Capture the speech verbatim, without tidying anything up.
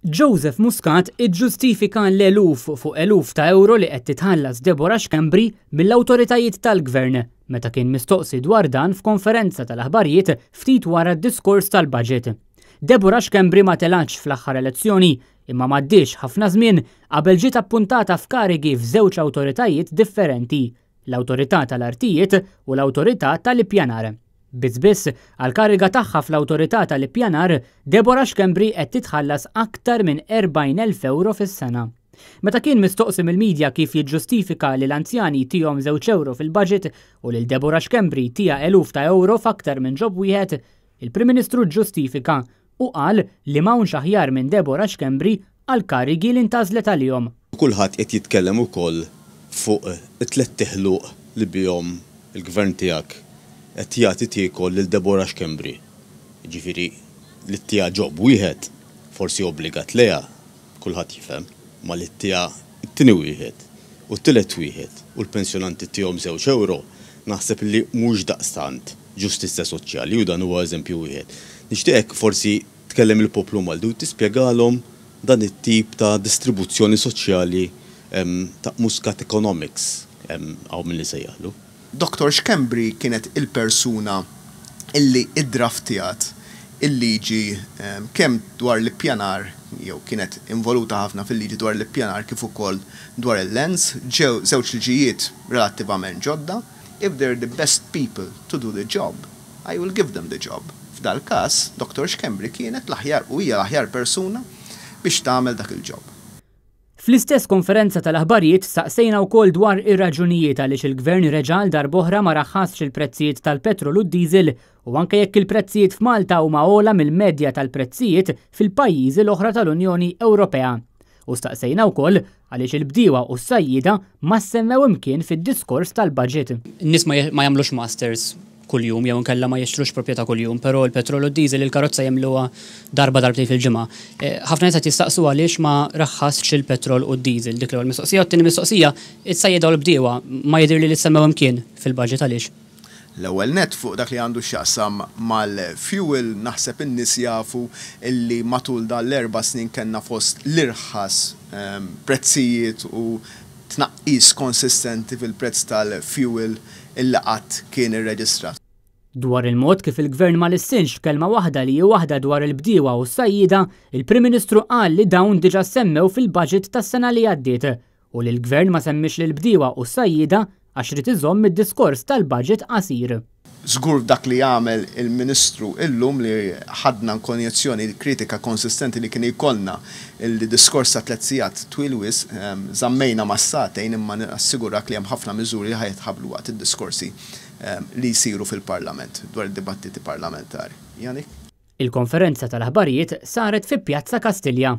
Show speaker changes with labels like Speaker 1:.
Speaker 1: Joseph Muscat iġġustifika l-eluf fuq eluf ta' euro li qed titħallas Deborah Schembri mill-awtoritajiet tal-gvern meta kien mistoqsi dwar dan f'konferenza tal-aħbarijiet ftit wara d-diskors tal-budget. Deborah Schembri ma telgħatx fl-aħħar elezzjoni, imma m'għaddiex ħafna żmien qabel ġiet appuntata f'karigi f'żewġ awtoritajiet differenti, l-Awtorità tal-Artijiet u l-Awtorità tal-Ippjanar. Biss biss, għal-kariga tagħha fl-Awtorità tal-Ippjanar, Deborah Schembri qed titħallas aktar minn erbgħin elf euro fis-sena. Meta kien mistoqsi mill-medja kif jiġġustifika li l-anzjani tihom żewġ euro fil-budget u lil Deborah Schembri tiha eluf ta' euro f'aktar minn job wieħed, il-Prim Ministru ġġustifika u qal li m'hawnx aħjar minn Deborah Schembri għal karigi li ntgħażlet għalihom.
Speaker 2: Kulħadd qed jitkellem ukoll fuq it-tliet ħluq li bihom il-gvern tiegħek qed jagħti tiekol lil Deborah Schembri. Ġifieri li ttiha job wieħed forsi obbligat lejha, kulħadd jifhem, ma li ttiha it-tieni wieħed u t-tielet wieħed u l-pensjonanti ttihom żewġ euro, naħseb li mhux daqstant ġustizzja soċjali, u dan huwa eżempju wieħed. Nixtieqek forsi tkellem il-poplu Malti u tispjegalhom dan it-tip ta' distribuzzjoni soċjali ta' Muscat Economics hawn min li sejjaħlu.
Speaker 3: Doktor Schembri kienet il-persuna illi iddraftjat il-liġi kemm dwar l-ippjanar, jew kienet involuta ħafna fil-liġi dwar l-ippjanar kif ukoll dwar il-lands, ġew żewġ liġijiet relattivament ġodda. If they're the best people to do the job, I will give them the job. F'dal każ, Doktor Schembri kienet l-aħjar u hija l-aħjar persuna biex tagħmel dak il-job.
Speaker 1: Fl-istess konferenza tal-aħbarijiet staqsejna wkoll dwar ir-raġunijiet għaliex il-gvern reġa' għal darb'oħra ma raħħasx il-prezzijiet tal-petrol u d-diesel, u anke jekk il-prezzijiet f'Malta huma ogħla mill-medja tal-prezzijiet fil-pajjiżi l-oħra tal-Unjoni Ewropea. U staqsejna wkoll għaliex il-bdiewa u s-sajjida ma semmew imkien fid-diskors tal-budget.
Speaker 4: Nies ma jagħmlux masters kuljum jew inkella ma jixtrux proprjetà kuljum, però l-petrol u d-diesel, il-karozza jimlewha darba, darbtejn fil-ġimgħa. Eh, ħafna nies qed jistaqsu għaliex ma raħħasx il-petrol u d-diesel. Dik l-ewwel mistoqsija. U t-tieni mistoqsija, is-sajjieda u l-bdiewa ma jidher li li semmew imkien fil-budget, għaliex?
Speaker 3: L-ewwel net, fuq dak li għandu x'jaqsam mal-fuel, naħseb in-nies jafu illi matul dan l-erba' snin kellna fost l-irħas ehm, prezzijiet u tnaqqis konsistenti fil-prezz tal-fuel illi qatt kien irreġistrat.
Speaker 1: Dwar il-mod kif il-gvern ma lissinx kelma waħda li waħda dwar il-bdiewa u s-sajjida, il-Prim Ministru qal li dawn diġa semmew fil-budget tas-sena li għaddiet u li l-gvern ma semmix l-bdiewa u s-sajjida għax irid iżomm id-diskors tal-budget qasir.
Speaker 3: Żgur dak li jagħmel il-Ministru illum li ħadna konjezzjoni kritika konsistenti li kien jkollna il-diskors ta' tliet sigħat twil wisq, ehm, żammejna ma' sagħtejn, imma assigurak li hemm ħafna miżuri li ħa jitħabbru waqt id-diskorsi ehm, li jsiru fil-Parlament dwar id-dibattiti parlamentari. Janik?
Speaker 1: Il-konferenza tal-aħbarijiet saret fi Pjazza Kastilja.